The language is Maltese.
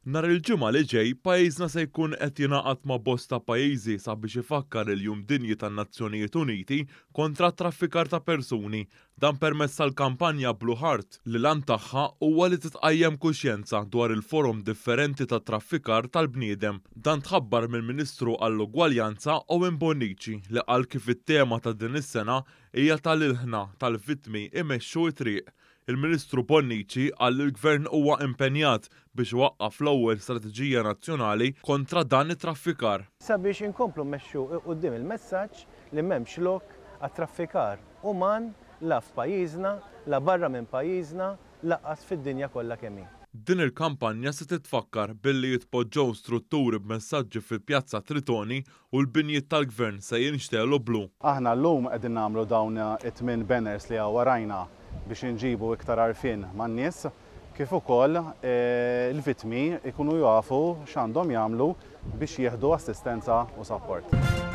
Nhar il-Ġimgħa li ġej, pajjiżna se jkun qed jingħaqad ma' bosta pajjiżi sabiex ifakkar il-Jum Dinji tan-Nazzjonijiet Uniti kontra t-traffikar ta' persuni. Dan permezz tal-kampanja Blue Heart li l-għan tagħha huwa li titqajjem kuxjenza dwar il-forom differenti ta' traffikar tal-bniedem. Dan tħabbar mill-Ministru għall-Ugwaljanza Owen Bonnici li qal kif it-tema ta' din is-sena hija tal-ilħna tal-vittmi imexxu t-triq. Il-Ministru Bonnici qal li l-Gvern huwa impenjat biex iwaqqaf l-ewwel strateġija nazzjonali kontra dan it-traffikar. Sabiex inkomplu mmexxu 'l quddiem il-messaġġ li m'hemmx lok għat-traffikar uman la f'pajjiżna, la barra minn pajjiżna, lanqas fid-dinja kollha kemm hi. Din il-kampanja se titfakkar billi jitpoġġew strutturi b'messaġġi fi Pjazza Tritoni u l-binjiet tal-Gvern se jinxtegħlu blu. Aħna llum qegħdin nagħmlu dawn it-tminn banners li hawn warajna biex inġibu iktar għarfien man-nies kif ukoll il-vittmi jkunu jafu x'għandhom jagħmlu biex jieħdu assistenza u sapport.